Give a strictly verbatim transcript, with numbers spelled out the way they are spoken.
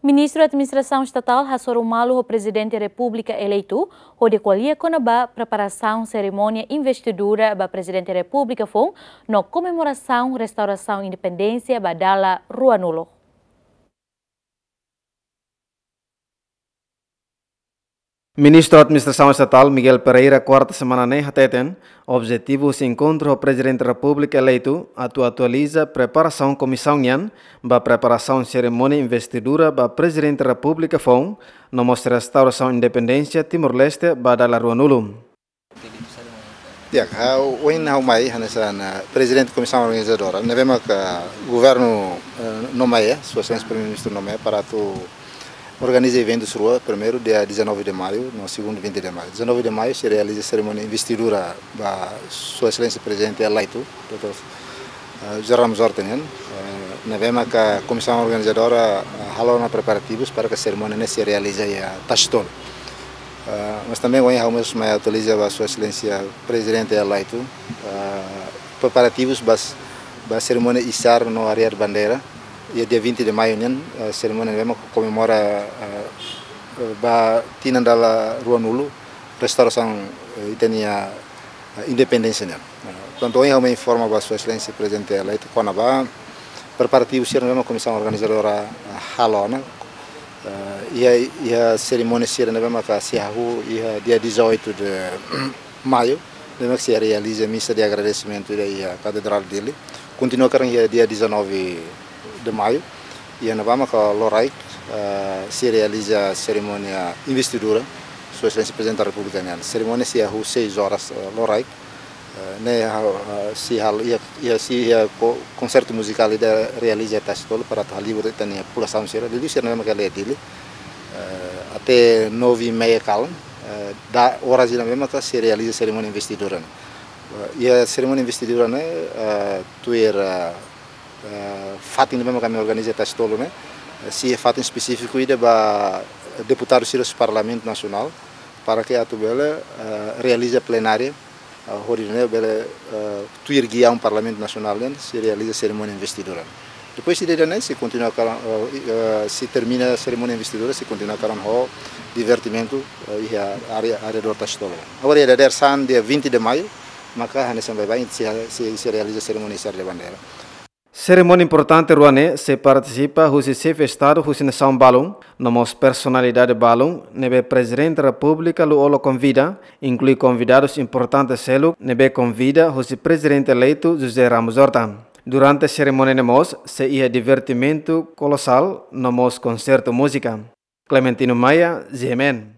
Ministru Administrasaun Estatál hasoru malu ho Prezidente Repúblika eleitu, hodi ko'alia kona-ba preparasaun serimónia investidura ba Prezidente Repúblika foun, no komemorasaun restaurasaun independénsia ba dala ruanulu. Ministru Administrasaun Estatál Miguel Pereira kuarta semana ne'e hateten, objetivu husi enkontru ho Prezidente Repúblika eleitu atu atualiza preparasaun komisaun nian ba preparasaun serimónia investidura ba Prezidente Repúblika foun, no mós restaurasaun independénsia Timor-Leste ba dala ruanulu. Ya, ha'u, ohin ha'u mai hanesan Prezidente Komisaun Organizadora, ne'ebé maka governu, eh, nomeia, Sua Exelénsia Primeiru-Ministru nomeia para atu organiza eventus rua, primeiru dia dezanove de maio, no segundu vinte de maio. Dezanove de maio sei realiza serimónia investidura ba Sua Exelénsia Prezidente eleitu, doutór, eh, José Ramos Horta nian, eh, ne'ebé maka Komisaun Organizadora, eh, halo ona preparativus para ke serimónia ne'e sei realiza iha Tasitolu. Eh, mas também ohin ha'u mós mai atualiza ba Sua Exelénsia Prezidente eleitu, eh, preparativus ba, ba serimónia isar no arriar bandeira, iha dia vinte de maio nian, eh, serimónia ne'ebé mak komemora, eh, eh, ba tinan dala ruanulu restaurasaun, eh, ita-nia, eh, independénsia nian. Eh, portantu, ohin ha'u mai informa ba Sua Exelénsia Prezidente eleitu kona-ba preparativus sira ne'ebé mak Komisaun Organizadora, eh, halo ona. Eh, iha, iha serimónia sira ne'ebé maka sei hahú iha dia dezoito de maio, ne'ebé maka sei realiza misa de agradesimentu iha Katedrál Dili. Kontinua karik iha dia dezanove de maio, iha ne'ebá maka loraik, eh, sei realiza serimónia investidura Sua Exelénsia Prezidente da Repúblika nian. Serimónia sei hahú seis horas, eh, loraik. Eh, ne'e ha'u, eh, sei halo iha, iha, sei iha ko-, konsertu muzikál ida realiza iha Tasitolu para atu halibur ita-nia populasaun sira. Liuliu sira ne'ebé maka iha Dili. Eh, até nove e meia kalan, eh, dala oras ida ne'ebé maka sei realiza serimónia investidura ne'e. Eh, iha serimónia investidura ne'e, eh, tuir, eh, eh, fatin ne'ebé maka ami organiza Tasitolu ne'e, eh, sei fatin espesífiku ida ba deputadu sira husi Parlamentu Nasionál, para ke atu bele, eh, realiza plenária, eh, hodi nune'e bele, eh, tuir giaun Parlamentu Nasionál nian, sei realiza serimónia investidura. Depois ida-ne'e sei kontinua kalan, eh, eh, sei termina serimónia investidura, sei kontinua kalan ho divertimentu, eh, iha área, arredór Tasitolu. Agora, iha dadeer-saan, dia vinte de maio, maka hanesan baibain sei, sei, sei realiza serimónia isar de bandeira. Serimónia importante rua ne'e sei partisipa husi xefe Estadu husi nasaun balun, no mós personalidade balun, ne'ebé Prezidente Repúblika Lú-Olo konvida, inklui konvidadus importante seluk, ne'ebé konvida husi Prezidente eleitu José Ramos Horta. Durante serimónia ne'e mós sei iha divertimentu kolosál, no mós konsertu múzika. Clementino Maia, G M N.